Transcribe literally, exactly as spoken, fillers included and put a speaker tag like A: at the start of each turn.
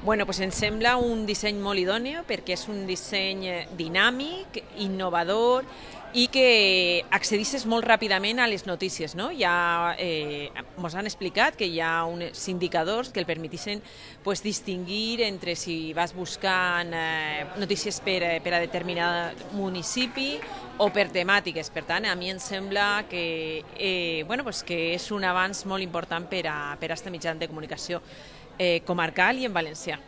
A: Bueno, pues ens sembla un disseny molt idoni perquè és un disseny dinàmic, innovador i que accedisses molt ràpidament a les notícies. No? Ja eh, ens han explicat que hi ha uns indicadors que el permetixen pues, distingir entre si vas buscant eh, notícies per, per a determinat municipi o per temàtiques. Per tant, a mi em sembla que, eh, bueno, pues que és un avanç molt important per a, per a este mitjà de comunicació eh, comarcal i en valencià.